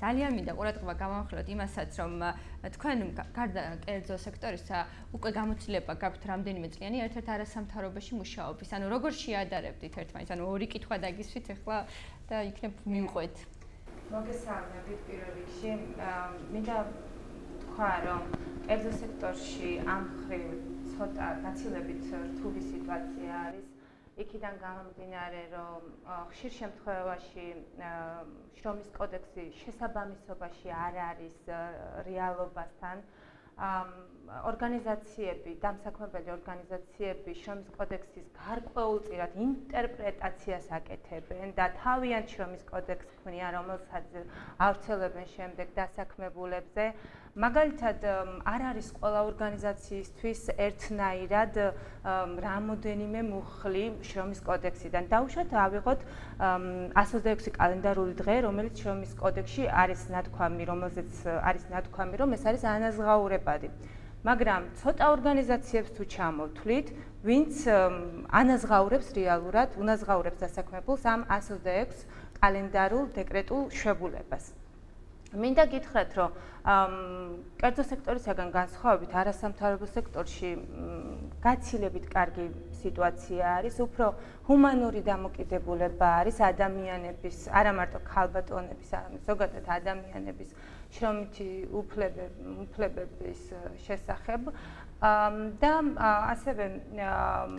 ძალიან მინდა ყურადღება გამოვახვილოთ იმასაც, რომ თქვენ გარდა კერძო სექტორისა უკვე გამოცდილება გაქვთ რამდენიმე წლიანი ერთ-ერთ არასამთავრობოში მუშაობის. ანუ როგორ შეადარებდით ერთმანეთს? ანუ ორი კითხვა დაგისვით ახლა და იქნებ მივყვეთ. მოგესალმებით პირველ რიგში. მინდა თქვა, რომ კერძო სექტორში ამ მხრივ ცოტა გაცილებით რთული სიტუაცია არის. იქიდან გამომდინარე, რომ ხშირ შემთხვევაში შრომის კოდექსი შესაბამისობაში არ არის რეალობასთან. ორგანიზაციები, დამსაქმებელი ორგანიზაციები შრომის კოდექსის გარკვეულწილად ინტერპრეტაციას აკეთებენ და თავიანთ შრომის კოდექსს ქმნიან, რომელსაც ავრცელებენ შემდეგ დასაქმებულებზე. მაგალითად, არ არის ყველა ორგანიზაციისთვის ერთნაირად რამოდენიმე მუხლი შრომის კოდექსიდან. დაუშვათ ავიღოთ 126 კალენდარული დღე, რომელიც შრომის კოდექსში არის ნათქვამი, რომელზეც არის ნათქვამი, რომ ეს არის ანაზღაურებადი. მაგრამ ცოტა ორგანიზაციებს თუ ჩამოვთვლით, ვინც ანაზღაურებს რეალურად, უნაზღაურებს დასაქმებულს ამ 126 კალენდარულ დეკრეტულ შვებულებას. მინდა გითხრათ, რომ კერძო სექტორისაგან განსხვავებით არასამთავრობო სექტორში გაცილებით კარგი სიტუაცია არის, უფრო ჰუმანური დამოკიდებულება არის ადამიანების, არა მარტო ქალბატონების, არამედ ზოგადად ადამიანების შრომითი უფლებების შესახებ. და ასევე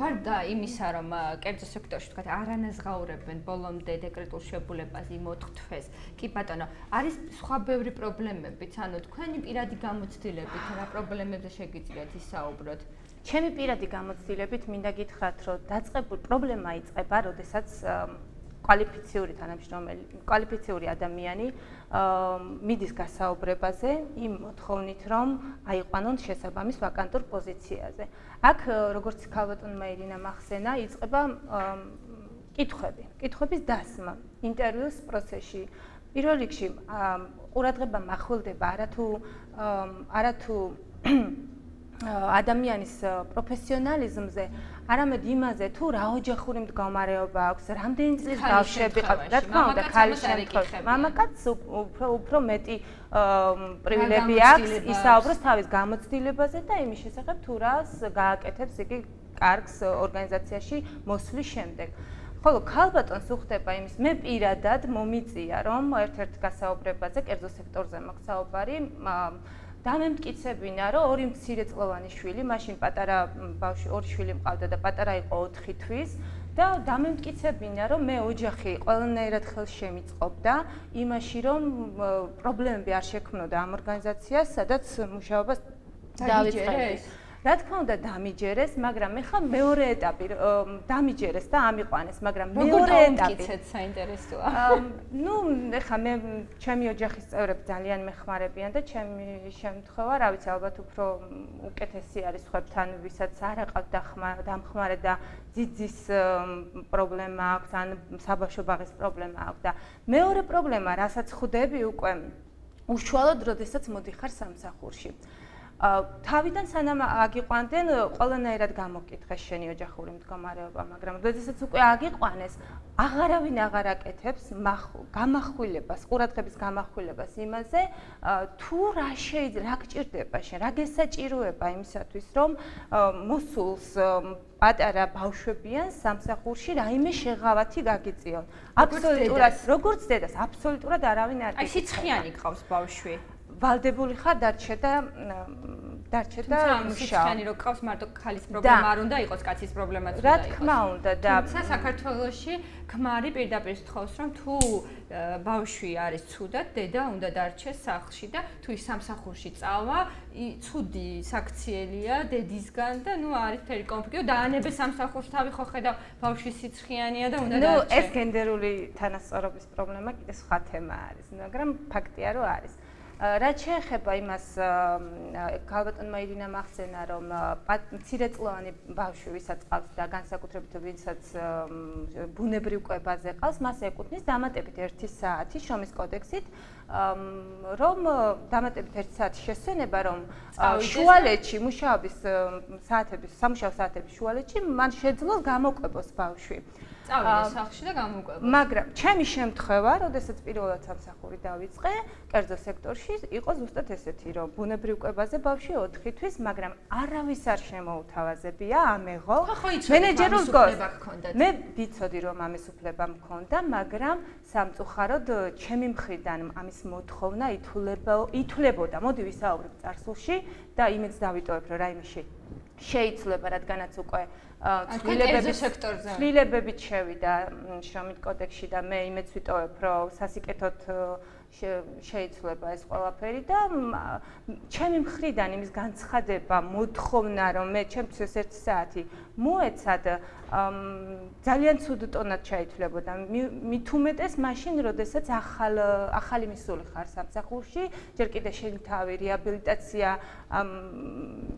გარდა იმისა, რომ კერძო სექტორში თქვათ არანაზღაურებენ ბოლომდე დეკრეტულ შვებულებას იმოთხთვეს, კი ბატონო, არის სხვა ბევრი პრობლემებიც, ანუ თქვენი პირადი გამოცდილებით რა პრობლემებზე შეგიძლიათ ისაუბროთ? ჩემი პირადი გამოცდილებით მინდა გითხრათ, რომ დაწყებული პრობლემა იწყება, როდესაც კვალიფიციური ადამიანი მიდის გასაუბრებაზე იმ მოთხოვნით, რომ აიყვანონ შესაბამის ვაკანტურ პოზიციაზე. აქ, როგორც ქალბატონმა ირინამ ახსენა, იწყება კითხვების დასმა ინტერვიუს პროცესში. პირველ რიგში ყურადღება მახვილდება არათუ ადამიანის პროფესიონალიზმზე, არამედ იმაზე, თუ რა ოჯახური მდგომარეობა აქვს, რამდენი წლის ბავშვები ყავს, რა თქმა უნდა, ქალის შემთხვევაში. მამაკაცს უფრო მეტი პრივილეგია აქვს ისაუბროს თავის გამოცდილებაზე და იმის შესახებ, თუ რას გააკეთებს იგი კარგს ორგანიზაციაში მოსვლის შემდეგ. ხოლო ქალბატონს უხდება იმის, მე პირადად მომიწია, რომ ერთ-ერთ გასაუბრებაზე, კერძო სექტორზე მაქვს საუბარი, დამემტკიცებინა, რომ ორი მცირეწლოვანი შვილი, მაშინ პატარა ბავშვი, ორი შვილი მყავდა და პატარა იყო 4 თვის და დამემტკიცებინა, რომ მე ოჯახი ყველანაირად ხელს შემიწყობდა იმაში, რომ პრობლემები არ შექმნოდა ამ ორგანიზაციას, სადაც მუშაობას დავიწყებდი. რა თქმა უნდა დამიჯერეს, მაგრამ ეხლა მეორე ეტაპი დამიჯერეს და ამიყვანეს, მაგრამ მეორე ეტაპი საინტერესოა. ეხლა მე ჩემი ოჯახის წევრები ძალიან მეხმარებიან და ჩემი შემთხვევა, რა ვიცი, ალბათ უფრო უკეთესი არის სხვებთან, ვისაც არ აყავთ დამხმარე და ძიძის პრობლემა აქვს, ან საბავშვო ბაღის პრობლემა აქვს და მეორე პრობლემა, რასაც ხვდები უკვე უშუალოდ, როდესაც მოდიხარ სამსახურში. თავიდან სანამ აგიყვანდნენ, ყველანაირად გამოკითხეს შენი ოჯახური მდგომარეობა, მაგრამ როდესაც უკვე აგიყვანეს, აღარავინ აღარ აკეთებს გამახვილებას, ყურადღების გამახვილებას იმაზე, თუ რა შეიძლება, რა გჭირდება შენ, რა გესაჭიროება იმისათვის, რომ მოსულს პატარა ბავშვებიან სამსახურში რაიმე შეღავათი გაგიწიონ. აბსოლუტურად, როგორც დედას, აბსოლუტურად არავინ არ აი სიცხიანი გყავს ბავშვი. ვალდებული ხარ დარჩე და მუშაო. რო ყავს მარტო ქალის პრობლემა არ უნდა იყოს, კაცის პრობლემაც უნდა იყოს. რა თქმა უნდა და თუმცა საქართველოში ქმარი პირდაპირ სთხოვს, რომ თუ ბავშვი არის ცუდად, დედა უნდა დარჩეს სახლში და თუ ის სამსახურში წავა, ცუდი საქციელია დედისგან და არის მთელი კონფლიქტი და დაანებე სამსახურს თავი ხო ხედავ ბავშვი სიცხიანია და უნდა დარჩე. ეს გენდერული თანასწორობის პრობლემა კიდე სხვა თემა არის, მაგრამ ფაქტია რომ არის. რაც შეეხება იმას, ქალბატონმა ირინამ ახსენა, რომ მცირეწლოვანი ბავშვი, ვისაც ყავს და განსაკუთრებით ვისაც ბუნებრივ კვებაზე ყავს, მას ეკუთვნის დამატებით 1 საათი შრომის კოდექსით, რომ დამატებით 1 საათის შესვენება, რომ შუალედში მუშაობის საათების, სამუშაო საათების შუალედში მან შეძლოს გამოკვებოს ბავშვი. წავიდე სახლში და გამოვკვებო. მაგრამ ჩემი შემთხვევა, როდესაც პირველად სამსახური დავიწყე, კერძო სექტორში იყო ზუსტად ესეთი, რომ ბუნებრივ კვებაზე ბავშვი 4 თვის, მაგრამ არავის არ შემოუთავაზებია ამეღო. მენეჯერულ გოს. მე ვიცოდი, რომ ამის უფლება მქონდა, მაგრამ სამწუხაროდ ჩემი მხრიდან ამის მოთხოვნა ითვლებოდა. მოდი ვისაუბრებ წარსულში და იმედს დავიტოვებ, რომ რაიმეში შეიძლება, რადგანაც უკვე ცვლილებებით შევიდა შრომით კოდექსში და მე იმედს ვიტოვებ, რომ სასიკეთოდ შეიძლება ეს ყველაფერი და ჩემი მხრიდან იმის განცხადება, მოთხოვნა, რომ მე ჩემთვის 1 საათი მოეცად, ძალიან ცუდ ტონად ჩაითვლებოდა. მით უმეტეს მაშინ, როდესაც ახალი მისული ხარ სამსახურში, ჯერ კიდე შენი თავი რეაბილიტაცია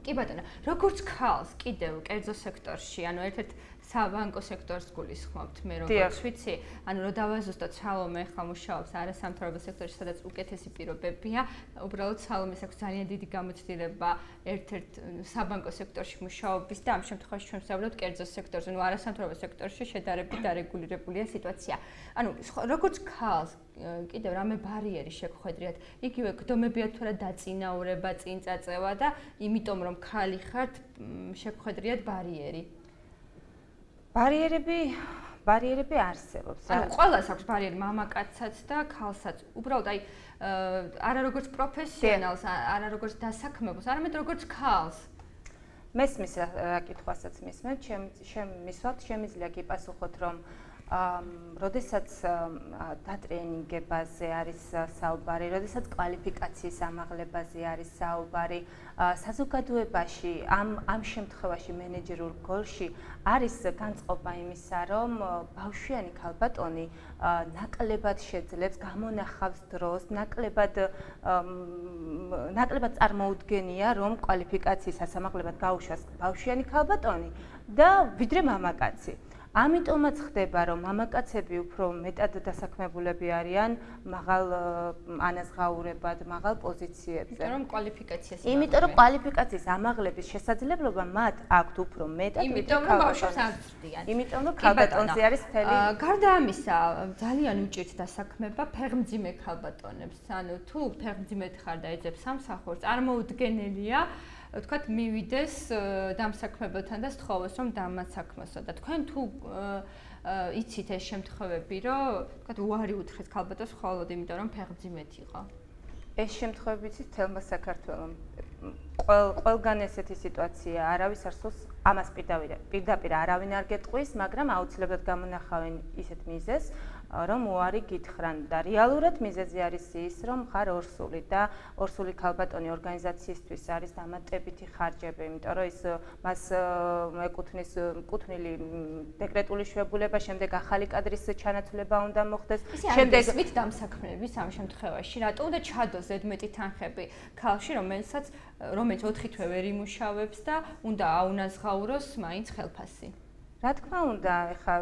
კი ბატონო, როგორც ქალს კიდევ კერძო სექტორში, ანუ ერთ-ერთ საბანკო სექტორს გულისხმობთ მე როგორც ვიცი, ანუ რომ დავაზუსტოთ სალომე ხა მუშაობს არასამთავრობო სექტორში, სადაც უკეთესი პირობებია, უბრალოდ სალომეს აქვს ძალიან დიდი გამოცდილება ერთ-ერთ საბანკო სექტორში მუშაობის და ამ შემთხვევაში ჩვენ ვსაუბრობთ კერძო სექტორზე, ანუ არასამთავრობო სექტორში შედარებით დარეგულირებულია სიტუაცია. ანუ როგორც ქალს კიდევ რამე ბარიერი შეგხვედრიათ, იგივე გდომებია თუ რა დაწინაურება, წინ წაწევა და იმიტომ რომ ქალი ხართ შეგხვედრიათ ბარიერი. ბარიერები არსებობს. ანუ ყველას აქვს ბარიერი, მამაკაცსაც და ქალსაც. უბრალოდ აი არა როგორც პროფესიონალს, არა როგორც დასაქმებულს, არამედ როგორც ქალს. მესმის რა კითხვასაც მისმენთ, შემიძლია გიპასუხოთ, რომ როდესაც დატრენინგებაზე არის საუბარი, როდესაც კვალიფიკაციის ამაღლებაზე არის საუბარი, საზოგადოებაში ამ შემთხვევაში მენეჯერულ როლში არის განწყობა იმისა, რომ ბავშვიანი ქალბატონი ნაკლებად შეძლებს, გამონახავს დროს, ნაკლებად წარმოუდგენია, რომ კვალიფიკაციის ასამაღლებად გაუშვას ბავშვიანი ქალბატონი და ვიდრე მამაკაცი. ამიტომაც ხდება, რომ მამაკაცები უფრო მეტად დასაქმებულები არიან მაღალ ანაზღაურებად, მაღალ პოზიციებზე. იმიტომ რომ კვალიფიკაციის ამაღლების შესაძლებლობა მათ აქვთ უფრო მეტად, იმიტომ რომ ბავშვებს აღწრდიან. იმიტომ რომ ქალბატონზე არის მთელი. გარდა ამისა, ძალიან უჭირთ დასაქმება ფეხმძიმე ქალბატონებს. ანუ თუ ფეხმძიმედ ხარ და ეძებ სამსახურს, წარმოუდგენელია ვთქვათ, მივიდეს დამსაქმებელთან და სთხოვოს, რომ დამასაქმოსო და თქვენ თუ იცით ეს შემთხვევები, რომ ვთქვათ, უარი უთხრეთ ქალბატონს მხოლოდ იმიტომ, რომ ფეხმძიმედ იყო. ეს შემთხვევები იცით თელმა საქართველოს. ყველგან ესეთი სიტუაცია არავის არ სურს ამას პირდაპირ არავინ არ გეტყვის, მაგრამ აუცილებლად გამონახავენ ისეთ მიზეზს, რომ უარი გითხრან და რეალურად მიზეზი არის ის, რომ ხარ ორსული და ორსული ქალბატონი ორგანიზაციისთვის არის დამატებითი ხარჯები, იმიტომ რომ ის მას ეკუთვნის კუთვნილი დეკრეტული შვებულება, შემდეგ ახალი კადრის ჩანაცვლება უნდა მოხდეს, შემდეგ ისმით დამსაქმების ამ შემთხვევაში, რატო უნდა ჩადოს ზედმეტი თანხები ქალში, რომელიც 4 თვე ვერ იმუშავებს და უნდა აუნაზღაუროს მაინც ხელფასი. რა თქმა უნდა, ეხლა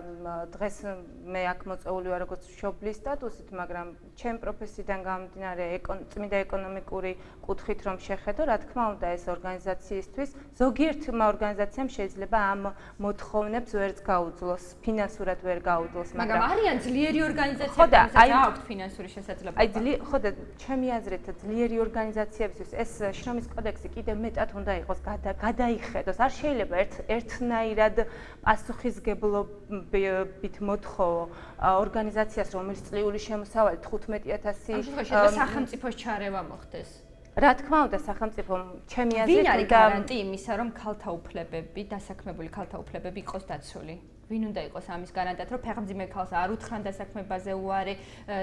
დღეს მე აქ მოწეული ვარ როგორც მშობლის სტატუსით, მაგრამ ჩემ პროფესიიდან გამომდინარე წმინდა ეკონომიკური კუთხით რომ შეხედო, რა თქმა უნდა, ეს ორგანიზაციისთვის ზოგიერთმა ორგანიზაციამ შეიძლება ამ მოთხოვნებს ვერც გაუძლოს, ფინანსურად ვერ გაუძლოს, მაგრამ არიან ძლიერი ორგანიზაციები, რომელსაც აქვთ ფინანსური შესაძლებლობა. ხო და ჩემი აზრით ძლიერი ორგანიზაციებისთვის ეს შრომის კოდექსი კიდევ მეტად უნდა იყოს გადაიხედოს. არ შეიძლება ერთნაირად პასუხისგებლობით მოთხოვო ორგანიზაციას, რომელიც წლიური შემოსავალი 15,000 სახელმწიფოს ჩარევა მოხდეს. რა თქმა უნდა, სახელმწიფომ ჩემი აზრით ვინ არის გარანტი იმისა, რომ ქალთა უფლებები, დასაქმებული ქალთა უფლებები იყოს დაცული? ვინ უნდა იყოს ამის გარანტად, რომ ფეხმძიმე ქალს არ უთხრან დასაქმებაზე უარი,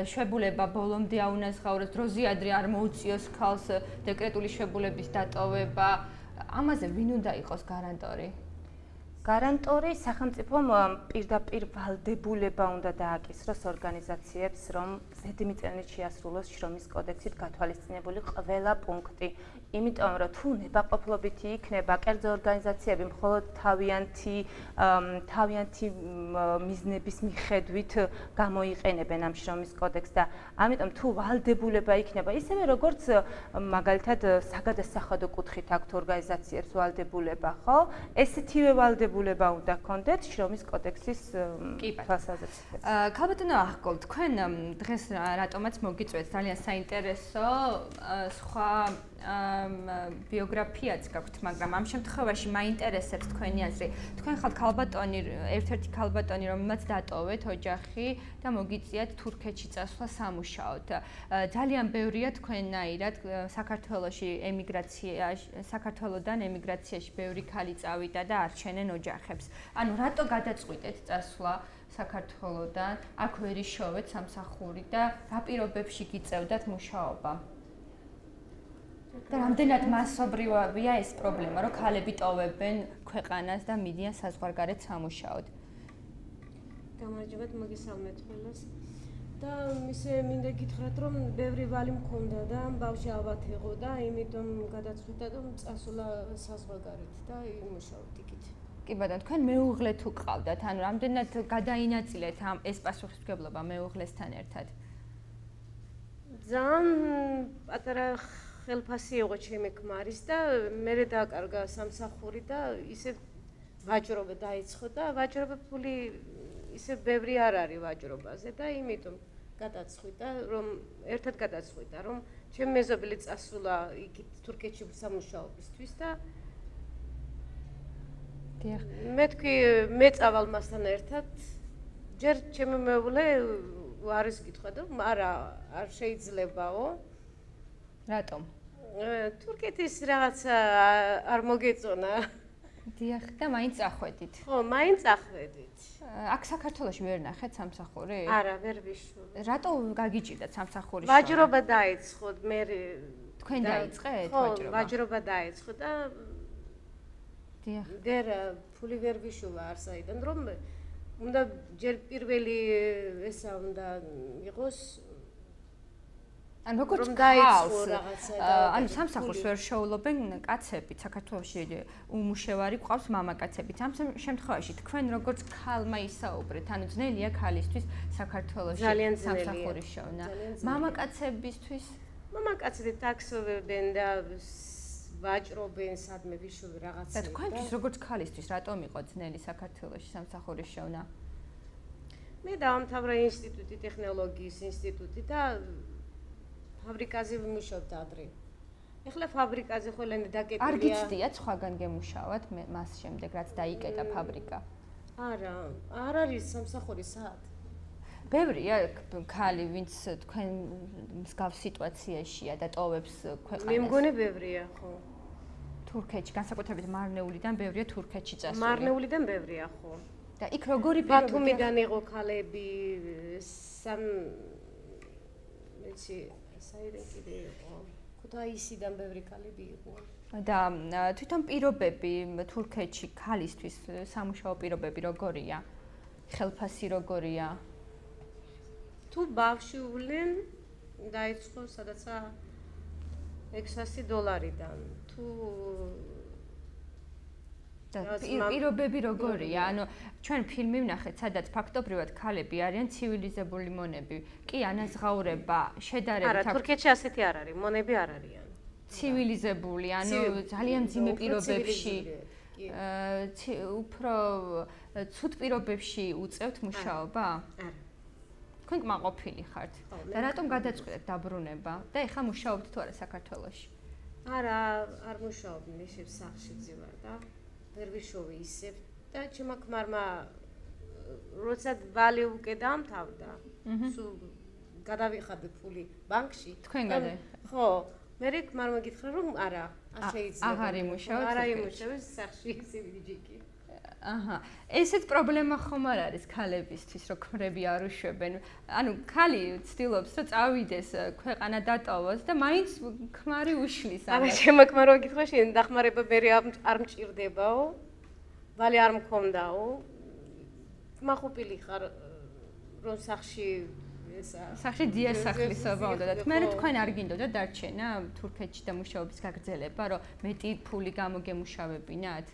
შვებულება ბოლომდე აუნაზღაუროს, დროზე ადრე არ მოუწიოს ქალს დეკრეტული შვებულების დატოვება? ამაზე ვინ უნდა იყოს გარანტორი? გარანტორი სახელმწიფომ პირდაპირ ვალდებულება უნდა დააკისროს ორგანიზაციებს, რომ ზედმიწევნით შეასრულოს შრომის კოდექსით გათვალისწინებული ყველა პუნქტი. იმიტომ რომ თუ ნებაყოფლობითი იქნება კერძო ორგანიზაციები მხოლოდ თავიანთი მიზნების მიხედვით გამოიყენებენ ამ შრომის კოდექსს და ამიტომ თუ ვალდებულება იქნება ისევე როგორც მაგალითად საგადასახადო კუთხით აქვთ ორგანიზაციებს ვალდებულება, ხო? ესეთივე ვალდებულება უნდა ჰქონდეთ შრომის კოდექსის თვალსაზრისით. ქალბატონო ახკოლ, თქვენ დღეს რატომაც მოგიწვევთ ძალიან საინტერესო სხვა ბიოგრაფიაც გაქვთ, მაგრამ ამ შემთხვევაში მაინტერესებს თქვენი აზრი. თქვენ ხართ ქალბატონი, ერთ-ერთი ქალბატონი, რომელმაც დატოვეთ ოჯახი და მოგიწიათ თურქეთში წასვლა სამუშაოდ. ძალიან ბევრია თქვენნაირად საქართველოში საქართველოდან ემიგრაციაში ბევრი ქალი წავიდა და არჩენენ ოჯახებს. ანუ რატო გადაწყვიტეთ წასვლა საქართველოდან, აქ ვერ იშოვეთ სამსახური და რა პირობებში გიწევდათ მუშაობა? და რამდენად მასობრივია ეს პრობლემა, რომ ქალები ტოვებენ ქვეყანას და მიდიან საზღვარგარეთ სამუშაოდ? გამარჯობათ, მოგესალმეთ ყველას. და ისე მინდა გითხრათ, რომ ბევრი ვალი მქონდა და ბავშვი ალბათ იყო და იმიტომ გადაწყვიტა, რომ წასულა საზღვარგარეთ და იმუშაოთ იქით. კი ბატონო, თქვენ მეუღლე თუ ყავდათ, ანუ რამდენად გადაინაწილეთ ეს პასუხისმგებლობა მეუღლესთან ერთად? ძალიან პატარა ხელფასი იყო ჩემი ქმარის და მე დააკარგა სამსახური და ისე ვაჭრობა დაიწყო და ვაჭრობა ფული ისე ბევრი არ არის ვაჭრობაზე და იმიტომ გადაწყვიტა, რომ ერთად გადაწყვიტა, რომ ჩემი მეზობელი წასულა იქით თურქეთში სამუშაობისთვის და მე თქვი მე წავალ მასთან ერთად ჯერ ჩემი მეუღლე არის კითხვა და არა არ შეიძლებაო. რატომ? თურქეთის რაღაცა არ მოგეწონა. დიახ, და მაინც წახვედით. ხო, მაინც წახვედით. აქ საქართველოში ვერ ნახეთ სამსახური? არა, ვერ ვიშურე. რატო გაგიჭირდათ სამსახური? ვაჭრობა დაიწყო, მე თქვენ დაიწყეთ ვაჭრობა? ხო, ვაჭრობა დაიწყო და დიახ. ვერ ფული ვერ ვიშუვა არსაიდან, რომ უნდა ჯერ პირველი ესა უნდა იყოს ან როგორც გაიწყო რაღაცა და ანუ სამსახურს ვერ შეულობენ კაცები საქართველოში უმუშევარი ყავს მამაკაცებიც. ამ შემთხვევაში თქვენ როგორც ქალმა ისაუბრეთ, ანუ ძნელია ქალისთვის საქართველოში სამსახურის შოვნა. მამაკაცებისთვის? მამაკაცები ტაქსოვებენ და ვაჭრობენ, სადმე ვიშოვე რაღაცა. და თქვენთვის როგორც ქალისთვის რატომ იყო ძნელი საქართველოში სამსახურის შოვნა? მე დაამთავრა ინსტიტუტი, ტექნოლოგიის ინსტიტუტი და ფაბრიკაზე ვიმუშავდა ადრე. ეხლა ფაბრიკაზე ყველანი დაკეტილია. არ გიცდიათ სხვაგან გემუშავათ მას შემდეგ რაც დაიკეტა ფაბრიკა? არა, არ არის სამსახური საათ. ბევრია ქალი, ვინც თქვენ მსგავს სიტუაციაშია და ტოვებს ქვეყანას. მე მგონი ბევრია, ხო. თურქეთში, განსაკუთრებით მარნეულიდან ბევრია თურქეთში წასული. მარნეულიდან ბევრია, ხო. და იქ როგორი პირობები? ბათუმიდან იყო ქალები, ეცი საიდან კიდე იყო. ქუთაისიდან ბევრი ქალები იყო. და თვითონ პირობები თურქეთში ქალისთვის სამუშაო პირობები როგორია? ხელფასი როგორია? თუ ბავშვი ვლენ დაიწყო სადაცა $600-დან. თუ პირობები როგორია? ანუ ჩვენ ფილმი ვნახეთ, სადაც ფაქტობრივად ქალები არიან ცივილიზებული მონები. კი, ანაზღაურება, შედარებით არა, თურქეთში ასეთი არ არის, მონები არ არიან. ცივილიზებული, ანუ ძალიან მძიმე პირობებში, უფრო ცუდ პირობებში უწევთ მუშაობა? არა. თქვენ კმაყოფილი ხართ და რატომ გადაწყვეტეთ დაბრუნება და ეხლა მუშაობთ თუ არა საქართველოში? არა, არ მუშაობდი, ისევ სახლში ძივარ და ვერ ვიშოვე ისევ და ჩემმა ქმარმა როცა ვალი უკვე დაამთავრდა, სულ გადავიხადე ფული ბანკში. თქვენ გადაიხადეთ? ხო, მე ქმარმა გითხრა რომ არა, არ შეიძლება. აღარ იმუშავოთ? არა იმუშავე სახლში ისევ ჯიკი. აჰა, ესეთ პრობლემა ხომ არ არის ქალებისთვის, რომ ქმრები არ უშვებენ. ანუ ქალი ცდილობს, რომ წავიდეს ქვეყანა დატოვოს და მაინც ქმარი უშლის ამას. არა, ჩემმა ქმარმა გითხრა შენ დახმარება მე არ მჭირდებაო. ვალი არ მქონდაო. კმაყოფილი ხარ რომ სახში ესა. სახში დიასახლისობა უნდა და მე თქვენ არ გინდოდა დარჩენა თურქეთში და მუშაობის გაგრძელება, რომ მეტი ფული გამოგემუშავებინათ?